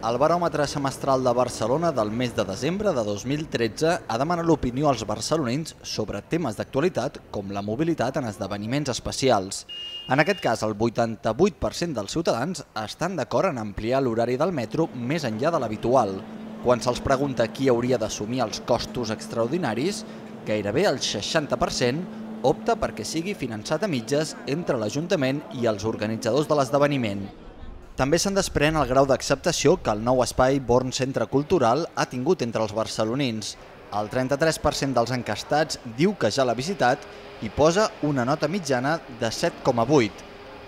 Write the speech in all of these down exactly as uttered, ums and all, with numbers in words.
El baròmetre semestral de Barcelona del mes de desembre de dos mil tretze ha demanat l'opinió als barcelonins sobre temes d'actualitat com la mobilitat en esdeveniments especials. En aquest cas, el vuitanta-vuit per cent dels ciutadans estan d'acord en ampliar l'horari del metro més enllà de l'habitual. Quan se'ls pregunta qui hauria d'assumir els costos extraordinaris, gairebé el seixanta per cent opta perquè sigui finançat a mitges entre l'Ajuntament i els organitzadors de l'esdeveniment. També se'n desprèn el grau d'acceptació que el nou espai Born Centre Cultural ha tingut entre els barcelonins. El trenta-tres per cent dels encastats diu que ja l'ha visitat i posa una nota mitjana de set coma vuit.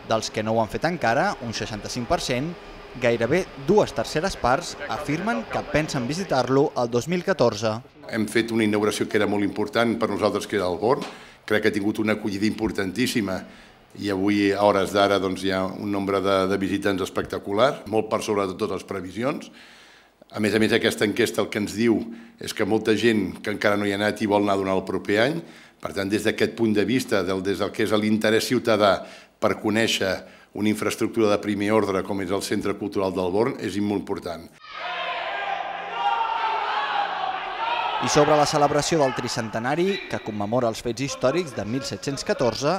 Dels que no ho han fet encara, un seixanta-cinc per cent, gairebé dues terceres parts afirmen que pensen visitar-lo el dos mil catorze. Hem fet una inauguració que era molt important per nosaltres, que era el Born. Crec que ha tingut una acollida importantíssima i avui, a hores d'ara, hi ha un nombre de visitants espectacular, molt per sobre de totes les previsions. A més a més, aquesta enquesta el que ens diu és que molta gent que encara no hi ha anat i vol anar durant el proper any. Per tant, des d'aquest punt de vista, des del que és l'interès ciutadà per conèixer una infraestructura de primer ordre com és el Centre Cultural del Born, és molt important. I sobre la celebració del tricentenari, que commemora els fets històrics de mil set-cents catorze,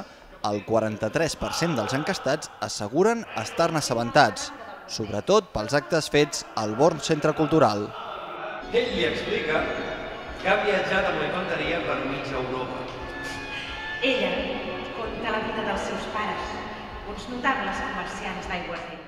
el quaranta-tres per cent dels encastats asseguren estar-ne assabentats, sobretot pels actes fets al Born Centre Cultural. Ell li explica que ha viatjat amb la infanteria per mig Europa. Ella conta la vida dels seus pares, uns notables comerciants d'aiguardent.